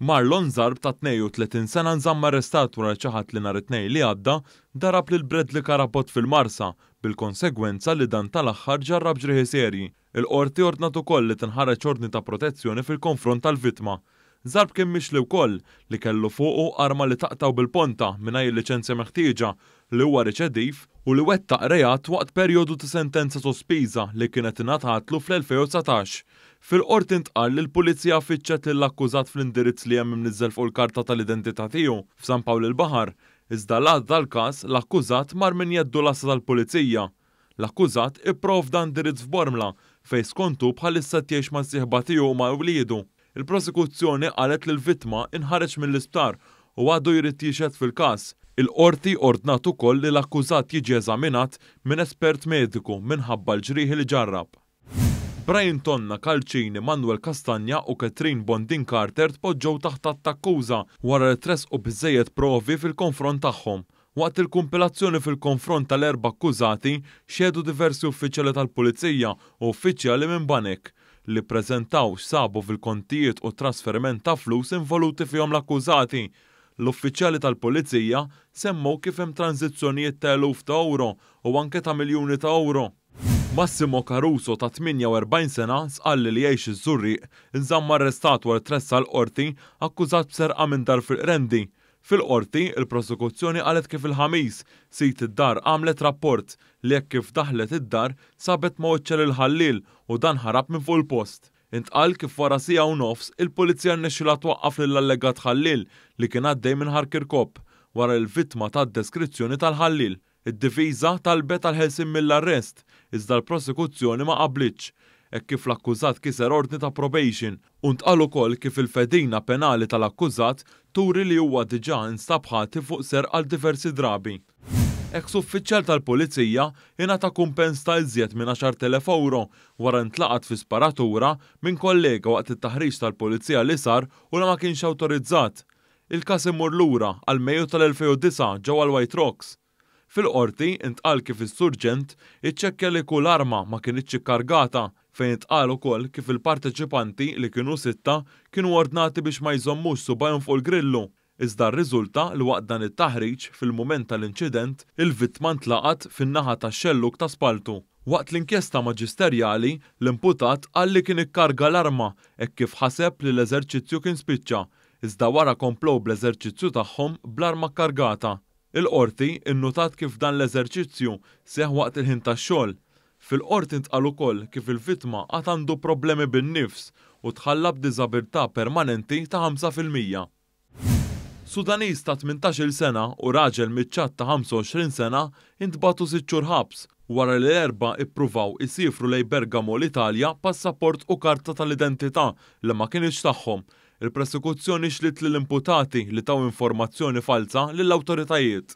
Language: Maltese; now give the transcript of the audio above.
Marlon Zarb ta' 32 sena nżamm arrestat wara li ċaħad li nhar it-Tnejn li għadda darab lil Bradley Carabott fil-Marsa bil-konsegwenza li dan tal-aħħar ġarrab ġrieħi serji. Il-Qorti ordnat ukoll li tinħareġ ordni ta' protezzjoni fil-konfront tal-vittma. Zarb kien mixli wkoll li kellu fuqu arma li taqtgħu bil-ponta mingħajr il-liċenzja meħtieġa, li huwa riċediv u li wettaq reat waqt perjodu ta' sentenza sospiża li kienet ingħatatlu fl-2019. Fil-Qorti ntqal li l-Pulizija fittxet lill-akkużat fl-indirizz li hemm imniżżel fuq il-karta tal-identità tiegħu f'San Pawl il-Baħar, iżda l-għada tal-każ l-akkużat mar minn jeddu l-għassa tal-Pulizija. L-akkużat ipprovda indirizz f'Bormla fejn skont hu bħalissa qed jgħix mas-sieħba tiegħu u ma' wliedu. Il-Prosekuzzjoni qalet li l-vittma inħareġ mill-isptar u għadu jrid jixhed fil-każ. Il-Qorti ordnat ukoll li l-akkużat jiġi eżaminat minn espert mediku minħabba l-ġrieħi li ġarrab. Brian Tonna, Calcini, Manuel Castagna u Catherine Bondin Carter tpoġġew taħt att t'akkuża wara li tressqu biżżejjed provi fil-konfront tagħhom. Waqt il-kumpilazzjoni fil-konfront tal-erba' akkużati xehdu diversi uffiċjali tal-Pulizija u uffiċjali minn banek, li ppreżentaw x'sabu fil-kontijiet u t-trasferiment ta' flus involuti fihom l-akkużati. L-uffiċjali tal-Pulizija semmew kif hemm tranżizzjonijiet ta' eluf ta' ewro u anke ta' miljuni ta' ewro. Massimo Caruso ta' 48 sena, Sqalli li jgħix iż-Żurrieq, inżamm arrestat wara li tressaq l-Qorti akkużat b'serqa minn dar fil-Qrendi. Fil-Qorti, il-Prosekuzzjoni qalet kif il-Ħamis, sid id-dar għamlet rapport li hekk kif daħlet id-dar sabet ma' wiċċha lill-ħalliel u dan ħarab minn fuq il-post. Intqal kif wara siegħa u nofs, il-Pulizija rnexxilha twaqqaf lill-allegat ħalliel li kien għaddej minn Ħar Kirkop, wara li l-vittma tat deskrizzjoni tal-ħalliel. Id-difiża talbet għall-ħelsien mill-arrest, iżda l-prosekuzzjoni ma qablitx, hekk kif l-akkużat kiser ordni ta' probation u ntqal ukoll kif il-fedina penali tal-akkużat turi li huwa diġà instab ħati fuq serq għal diversi drabi. Eks uffiċjal tal-Pulizija ingħata kumpens ta' iżjed minn 10,000 ewro wara li ntlaqat fi sparatura minn kollega waqt it-taħriġ tal-Pulizija li sar u li ma kienx awtorizzat. Il-każ imur lura għal Mejju tal-2009 ġewwa l-White Rocks. Fil-Qorti intqal kif is-Surġent iċċekkja li kull arma ma kinitx ikkargata, fejn intqal ukoll kif il-parteċipanti, li kienu sitta, kienu ordnati biex ma jżommux subgħajhom fuq il-grillu. Iżda rriżulta li waqt dan it-taħriġ, fil-mument tal-inċident, il-vittma ntlaqat fin-naħa tax-xellug ta' spalltu. Waqt l-inkjesta maġisterjali, l-imputat qal li kien ikkarga l-arma hekk kif ħaseb li l-eżerċizzju kien spiċċa, iżda wara komplew bl-eżerċizzju tagħhom bl-arma kkargata. Il-Qorti nnutat kif dan l-eżerċizzju seħħ waqt il-ħin tax-xogħol. Fil-Qorti ntqal ukoll kif il-vittma għad għandu problemi bin-nifs u tħalla b'diżabilità permanenti ta' 5%. Sudaniż ta' 18-il sena u raġel miċ-Ċad ta' 25 sena ntbagħtu sitt xhur ħabs wara li l-Erbgħa ippruvaw isiefru lejn Bergamo l-Italja b'passaport u karta tal-identità li ma kinitx tagħhom Il-Prosekuzzjoni xliet lill-imputati li taw informazzjoni falza lill-awtoritajiet.